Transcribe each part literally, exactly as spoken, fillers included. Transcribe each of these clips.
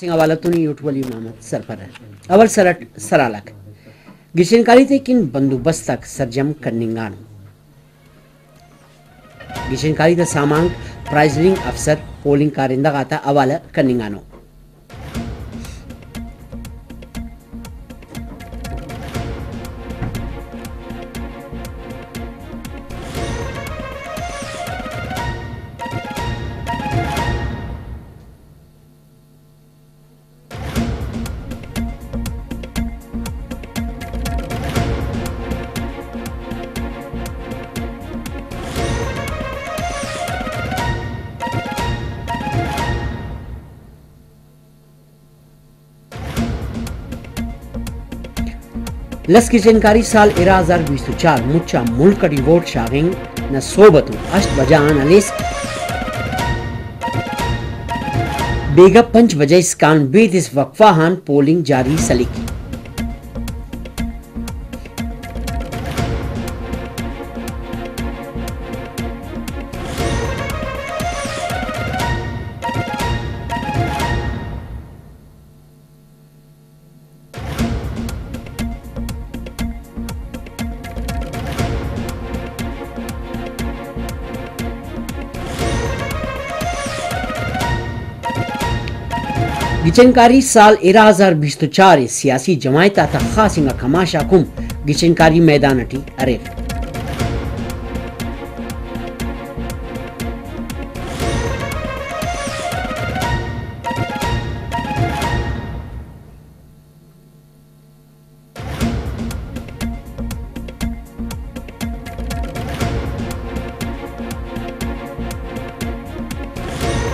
سنگھ حوالہ تون یوٹولی محمد سرپرہ۔ اول سر اٹ سرحال آک۔ گچین کاری تے کن بندوبست آک سرجم کننگانو۔ گچین کاری تا سامانک پرائزنگ افسر پولنگ کارندہ غاتا حوالہ کننگانو۔ لس گچین کاری سال ارا ہزار بیست و چار مچ آ ملک اٹی ووٹ شاغنگ نا سوب اتون ہشت بجہ آن ہلیس بیگہ پنچ بجہ اسکان بیدس وقفہ آن پولنگ جاری سلیک۔ گچین کاری سال ارا ہزار بیست و چار ء سیاسی جماعت آتا خاص انگا کماش آک ہم گچین کاری میدان اٹی اریر۔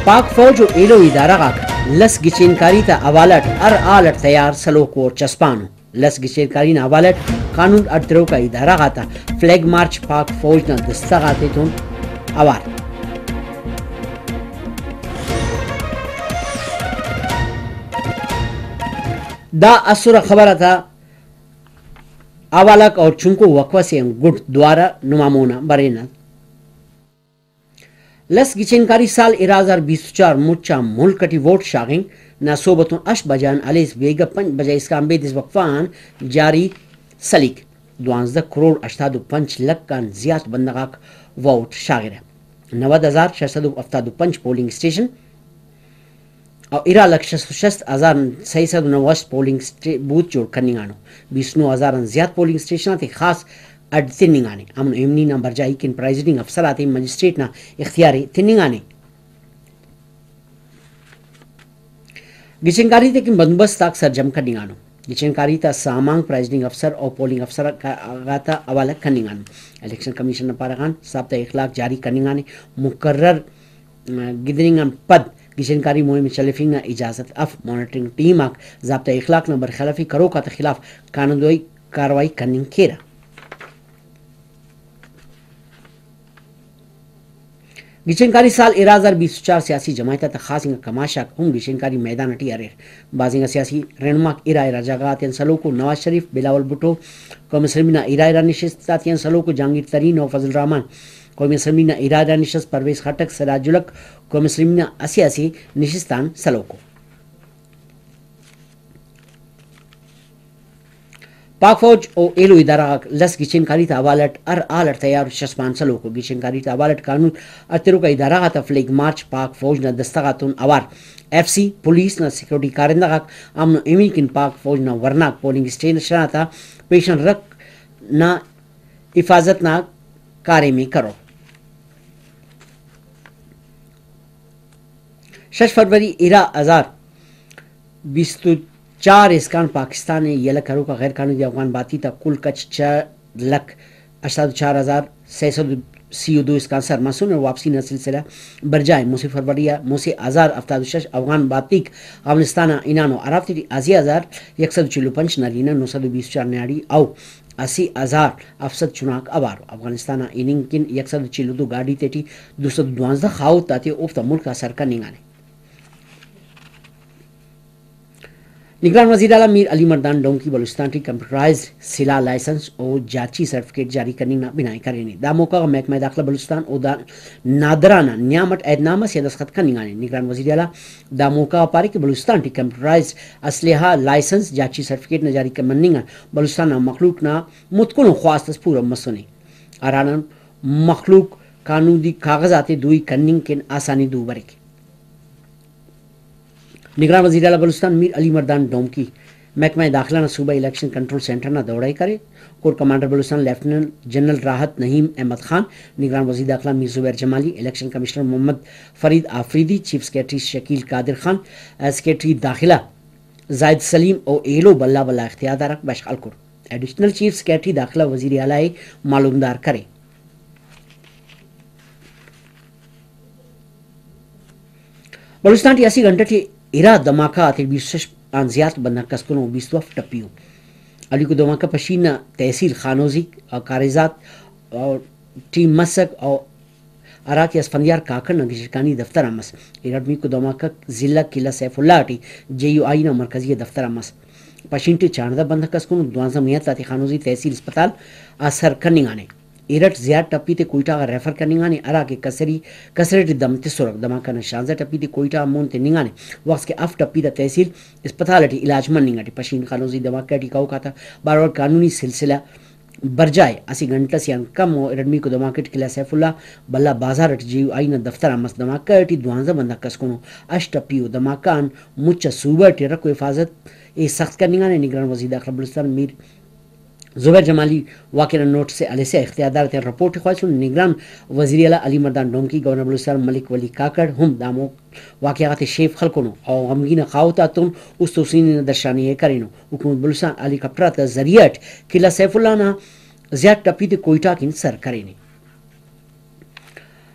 پاک فوج و ایلو ادارہ غاک لس گچین کاری تا حوالہ اٹ ہر حال اٹ تیار سلوکو و چسپانو۔ لس گچین کاری نا حوالہ اٹ قانون اڈ تروکا ادارہ غاتا فلیگ مارچ پاک فوج نا دستہ غاتیتون اوار۔ دا اسرہ خبر آتا حوالہ غاک اور چنکو وقفہ سے آن گڈ دوارہ نما مونا برینہ۔ لس گچین کاری سال ارا ہزار بیست و چار مچ آ ملک اٹی ووٹ شاغنگ نا سوب اتون ہشت بجہ آن ہلیس بیگہ پنچ بجہ اسکان بیدس وقفہ آن جاری سلیک۔ دوانزدہ کروڑ ہشتاد و پنچ لکھ آن زیات بندغ آک ووٹ شاغرہ۔ نود ہزار شش سد و ہفتاد و پنچ پولنگ اسٹیشن و ارا لکھ شست و شست ہزار سئے سد و نو اسٹ پولنگ اسٹے-، بوتھ جوڑ کننگانو۔ بیست نو ہزار آن زیات پولنگ اسٹیشن آتے خاص اڈ تننگانے۔ امن و ایمنی نا برجائی کن پرائزنگ افسر آتے مجسٹریٹ نا اختیار ء تننگانے۔ گچین کاری تیکن بندوبست آک سرجم کننگانو۔ گچین کاری تا سامان پرائزنگ افسر و پولنگ افسر کا-، غاتا حوالہ کننگانو۔ الیکشن کمیشن نا پارہ غان ضابطہ اخلاق جاری کننگانے۔ مقرر گدرینگ آن پد گچین کاری مہم ء چلیفنگ نا اجازت اف۔ مانیٹرنگ ٹیم آک ضابطہ اخلاق نا برخلافی کروک آتا خلاف قانودی کارروائی کننگ کیرہ۔ گچین کاری سال ارا ہزار بیست و چار سیاسی جماعت آتا خاص انگا کماش آک ہم گچین کاری میدان اٹی اریر۔ بھاز انگا سیاسی رہنماک ارا ارا جاگہ غاتیان سلوکو۔ نواز شریف، بلاول بھٹو قومی اسمبلی نا ارا ارا نشست آتیان سلوکو۔ جہانگیر ترین و فضل الرحمان قومی اسمبلی نا ارا ارا نشست، پرویز خٹک، سراج الحق قومی اسمبلی نا اسہ اسہ نشست آن سلوکو۔ پاک فوج و ایلو ادارہ غاک لس گچین کاری تا حوالہ اٹ ہر حال اٹ تیار و چسپان سلوکو۔ گچین کاری تا حوالہ اٹ قانون اڈ تروکا ادارہ غاتا فلیگ مارچ پاک فوج نا دستہ غاتون اوار۔ ایف سی، پولیس نا سیکورٹی کارندہ غاک امن و ایمنی کن پاک فوج نا ورناک پولنگ اسٹیشن آتا پیشن رکھ نا حفاظت نا کاریم ء کرور۔ شش فروری ارا ہزار بیست و چار اسکان پاکستان ء یلہ کروکا غیر قانودی افغان باتی تا کل کچ چار لکھ ہشتاد و چار ہزار سئے سد و سی و دو اسکان سر مسنے۔ واپسی نا سلسلہ برجا ء۔ مسہ فروری آ مسہ ہزار ہفتاد و شش افغان باتیک افغانستان آ ہنانو، ہرافتے ٹی اسہ ہزار یک سد و چل و پنچ نرینہ، نو سد و بیست و چار نیاڑی او اسہ ہزار ہفت سد چناک اوارو۔ افغانستان آ ہننگ کن یک سد و چل و دو گاڈی تیٹی دو سد و دوانزدہ خاہوت آتے اوفتا ملک آ سر کننگانے۔ نگران وزیراعلیٰ میر علی مردان ڈومکی بلوچستان ٹی کمپیوٹرائزڈ سلاہ لائسنس و جاچی سرٹیفکیٹ جاری کننگ نا بناء کرینے۔ دا موقع غا محکمہ داخلہ بلوچستان و دا نادرا نا نیام اٹ عہد نامہ سے آ دستخط کننگانے۔ نگران وزیراعلیٰ دا موقع غا پارے کہ بلوچستان ٹی کمپیوٹرائزڈ اسلحہ لائسنس جاچی سرٹیفکیٹ نا جاری مننگ آن بلوچستان نا مخلوق نا متکن ءُ خواست اس پورو مسنے، ہراڑان مخلوق قانودی کاغذ آتے دوئی کننگ کن آسانی دو بریک۔ نگران وزیراعلیٰ بلوچستان میر علی مردان ڈومکی محکمہ داخلہ نا صوبائی الیکشن کنٹرول سینٹر نا دورہ ءِ کرے۔ Corps commander Balochistan lieutenant general Rahat Naeem Ahmad Khan, نگران وزیر داخلہ Mir Zubair Jamali, election commissioner Mohammad Farid Afridi, chief secretary Shakeel Qadir Khan, secretary داخلہ زاہد سلیم و ایلو بھلا بھلا اختیاردار آک بشخ ہلکر۔ ایڈیشنل چیف سیکرٹری داخلہ وزیر اعلیٰ ءِ معلومدار کرے۔ بلوچستان ٹی اسہ گھنٹہ ٹی ارا دھماکہ غاتے بیست و شش آن زیات بندغ کسکنو و بیست و ہفت ٹپی ءُ۔ اولیکو دھماکہ پشین نا تحصیل خانوزی و کاریزات ٹی مسک و ہرا کہ اسفندیار کاکڑ نا گچینکاری دفتر آ مس۔ ارٹمیکو دھماکہ ضلع قلعہ سیف اللہ ٹی جے یو آئی نا مرکزی آ دفتر آ مس۔ پشین ٹی چاردہ بندغ کسکنو، دوانزہ میت آتے خانوزی تحصیل اسپتال آ سر کننگانے۔ ارٹ زیات ٹپی تے کوئٹہ غا ریفر کننگانے، ہرا کہ کسری، کسرے ٹی دم تسرک۔ دھماکہ نا شانزدہ ٹپی تے کوئٹہ آ مون تننگانے، وخت کہ ہفت ٹپی تا تحصیل اسپتال ٹی علاج مننگ اٹی۔ پشین خانوزی دھماکہ ٹی کہوک آتا بارو قانونی سلسلہ برجا ءِ۔ اسہ گھنٹہ سے آن کم و ارٹمیکو دھماکہ ٹی قلعہ سیف اللہ بھلا بازار اٹ جے یو آئی نا دفتر آ مس۔ دھماکہ ٹی دوانزہ بندغ کسکنو، ہشت ٹپی ءُ۔ دھماکہ آن مچ آ صوبہ ٹی رکھ و حفاظت ءِ سخت کننگانے۔ نگران وزیر داخلہ بلوچستان میر زبیر جمالی واقعہ نا نوٹس ءِ ہلسا اختیاردار آتیان رپورٹ ءِ خواہسن۔ نگران وزیر اعلیٰ علی مردان ڈومکی، گورنر بلوچستان ملک ولی کاکڑ ہم دامو واقعہ غاتے شیف خلکنو و غمگین آ خاہوت آتون است و سینی نا درشانی ءِ کرینو۔ حکومت بلوچستان ہیلی کاپٹر آتا ذریعہ اٹ قلعہ سیف اللہ نا زیات ٹپی تے کوئٹہ کن سر کرینے۔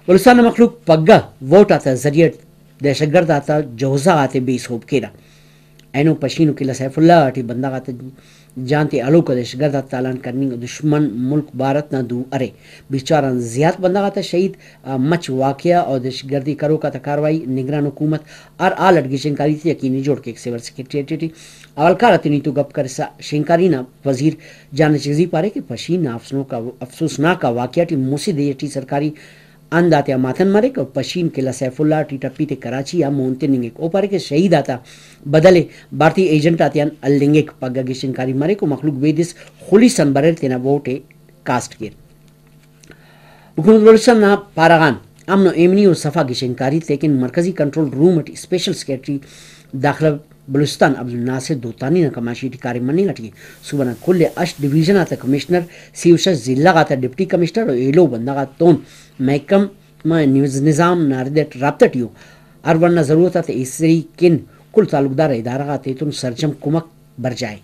بلوچستان نا مخلوق پگہ ووٹ آتا ذریعہ اٹ دہشت گرد آتا جوزہ غاتے بے سہب کیرہ۔ اینو پشین و قلعہ سیف اللہ ٹی بندغ آتا جان تے ہلوک آ دہشت گرد آتا تالان کننگ و دشمن ملک بھارت نا دو ارے۔ بیست چار آن زیات بندغ آتا شہید، آ، مچ واقعہ و دہشت گردی کروک آتا کارروائی نگران حکومت ہر حال اٹ گچین کاری تے یقینی جوڑ کیک۔ سول سیکرٹریٹ ٹی حوالکار آتے نیتو گپ کرسا شینکاری نا وزیر جان اچکزئی پارے کہ پشین نا افسوسناک آ، افسوسناک آ واقعہ ٹی مسہ دے ٹی سرکاری ہند آتیا ماتن مریک و پشین قلعہ سیف اللہ ٹی ٹپی تے کراچی آ مون تننگک۔ او پارے کہ شہید آتا بدل ءِ بھارتی ایجنٹ آتیان ہلنگک۔ پگہ گچین کاری مریک و مخلوق بیدس خلیس آن بریر تینا ووٹ ءِ کاسٹ کیر۔ حکومت بلوچستان نا پارہ غان امن و ایمنی و صفا گچین کاری تیکن مرکزی کنٹرول روم اٹی اسپیشل سیکرٹری داخلہ بلوچستان عبدالناصر دوتانی نا کماشی ٹی کاریم مننگ اٹی ءِ۔ صوبہ نا کل ءِ ہشت ڈویژن آتا کمشنر، سی و شش ضلع غاتا ڈپٹی کمشنر و ایلو بندغ آتون محکمہ نظام نا رد اٹ رابطہ ٹی ءُ۔ ہر وڑ نا ضرورت آتے ایسری کن کل تعلقدار ادارہ غاتیتون سرجم کمک برجا ءِ۔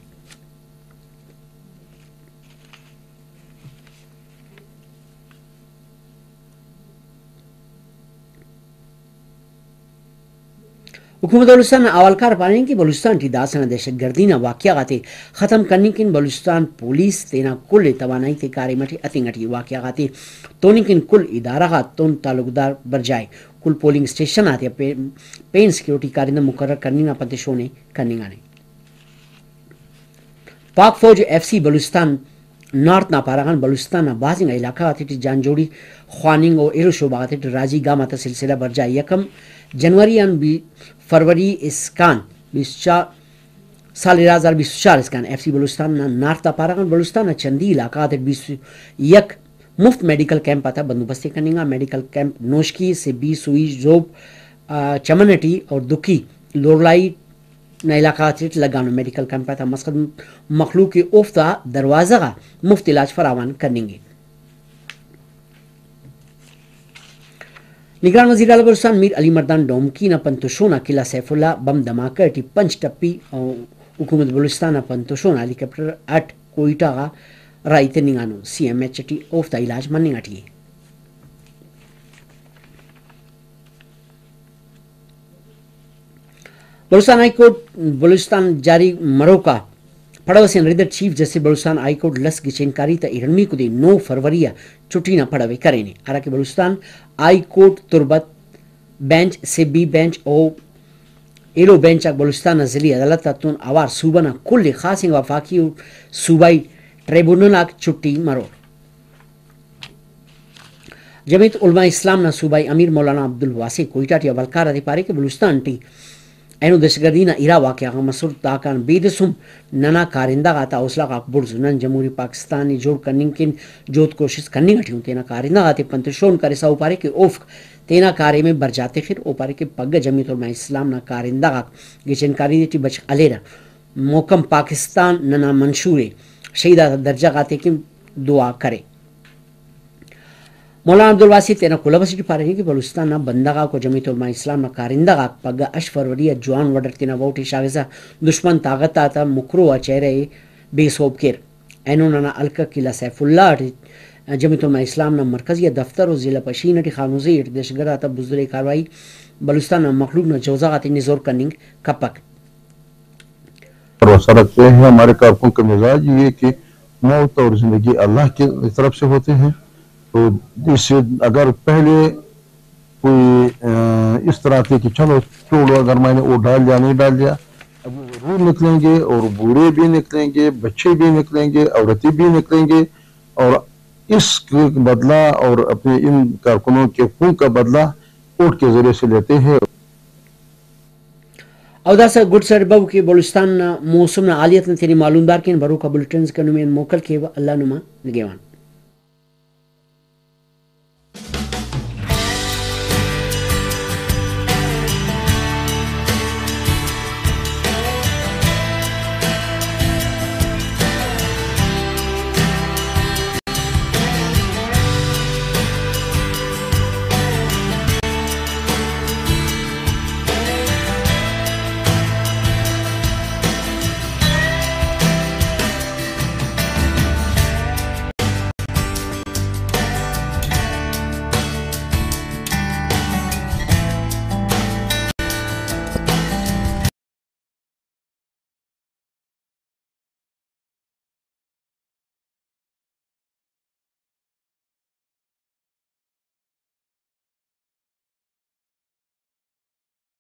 حکومت بلوچستان نا حوالکار پاننگ کہ بلوچستان ٹی داسہ نا دہشت گردی نا واقعہ غاتے ختم کننگ کن بلوچستان پولیس تینا کل ءِ توانائی تے کاریم اٹی ہتنگ اٹی ءِ۔ واقعہ غاتے توننگ کن کل ادارہ غاتتون تعلقدار برجا ءِ۔ کل پولنگ اسٹیشن آتیا پین، پین سیکورٹی کارندہ مقرر کننگ نا پنت شون ءِ کننگانے۔ پاک فوج ایف سی بلوچستان نارتھ نا پارہ غان بلوچستان نا بھاز انگا علاقہ غاتیٹی جان جوڑی خواننگ و ایلو شعبہ غاتیٹی راجی گام آتا سلسلہ برجا ءِ۔ یکم جنوری آن بی-، فروری اسکان بیست چار، سال ارا ہزار بیست و چار اسکان ایف سی بلوچستان نا نارتھ آ پارہ غان بلوچستان نا چندی علاقہ غاتیٹی بیست و یک مفت میڈیکل کیمپ آتا بندوبست ءِ کننگا۔ میڈیکل کیمپ نوشکی، سبی، سوئی، ژوب، آ، چمن اٹی اور دکی لورالائی نا علاقہ غاتیٹ لگانو۔ میڈیکل کیمپ آتا مقصد مخلوق ءِ اوفتا دروازہ غا مفت علاج فراوان کننگ ءِ۔ نگران وزیر اعلیٰ بلوچستان میر علی مردان ڈومکی نا پنت و شون آ قلعہ سیف اللہ بم دھماکہ ٹی پنچ ٹپی و حکومت بلوچستان نا پنت و شون آ ہیلی کاپٹر اٹ کوئٹہ غا راہی تننگانو۔ سی ایم ایچ ٹی اوفتا علاج مننگ اٹی ءِ۔ بلوچستان ہائی کورٹ بلوچستان جاری مروکا پڑو اسے آن رد it chief justice Balochistan high court لس گچین کاری تا ارنمیکو دے نو فروری آ چھٹی نا پڑو ءِ کرینے، ہراکہ بلوچستان ہائی کورٹ تربت بینچ، سبی بینچ و ایلو بینچ آک بلوچستان نا ضلعی عدالت آتون اوار صوبہ نا کل ءِ خاص انگا وفاقی و صوبائی ٹریبونل آک چھٹی مرور۔ جمعیت علماء اسلام نا صوبائی امیر مولانا عبدالواسع کوئٹہ ٹی حوالکار آتے پارے کہ بلوچستان ٹی اینو دہشت گردی نا ارا واقعہ غا مسر، داکان بیدس ہم ننا کارندہ غاتا حوصلہ غاک بڑز ءُ۔ نن جمہوری پاکستان ءِ جوڑ کننگ کن جہد کوشست کننگ ٹی اُن۔ تینا کارندہ غاتے پن تشون کرسا او پارے کہ اوفک تینا کاریم ءِ برجا تخر۔ او پارے کہ پگہ جمعیت علماء اسلام نا کارندہ غاک گچین کاری ٹی بشخ ہلیرہ۔ محکم پاکستان ننا منشور ءِ، شہید آتا درجہ غاتے کن دعا کرے۔ مولانا عبدالواسع تینا کلہو اسے ٹی پارینے کہ بلوچستان نا بندغ آک و جمعیت علماء اسلام نا کارندہ غاک پگہ ہشت فروری آ جوان وڈٹ تینا ووٹ ءِ شاغسا دشمن طاقت آتا مکرو آ چہرہ ءِ بے سہب کیر۔ اینو ننا حلقہ قلعہ سیف اللہ ٹی جمعیت علماء اسلام نا مرکزی آ دفتر و ضلع پشین ٹی خانوزی اٹ دہشت گرد آتا بزدل ءِ کارروائی بلوچستان نا مخلوق نا جوزہ غاتے نزور کننگ کپک۔ بھروسہ رکھتے ہیں۔ ہمارے کارکن کا مزاج یہ ہے کہ موت اور زندگی اللہ کی طرف سے ہوتے ہیں، تو اس سے اگر پہلے کوئی، آ، اس طرح تھے کہ چلو چھوڑو، اگر میں نے وہ ڈال دیا، نہیں ڈال دیا، اب وہ ضرور نکلیں گے اور بوڑھے بھی نکلیں گے، بچے بھی نکلیں گے، عورتیں بھی نکلیں گے، اور اس کے بدلہ اور اپنے ان کارکنوں کے خون کا بدلہ کوڈ کے ذریعے سے لیتے ہیں۔ او داسہ گڈ سر بو کہ بلوچستان نا موسم نا حالیت نا تینے معلومدار کین، بروکا بلٹنز کن نمے آن موکل کیوہ۔ اللہ نما نگہوان۔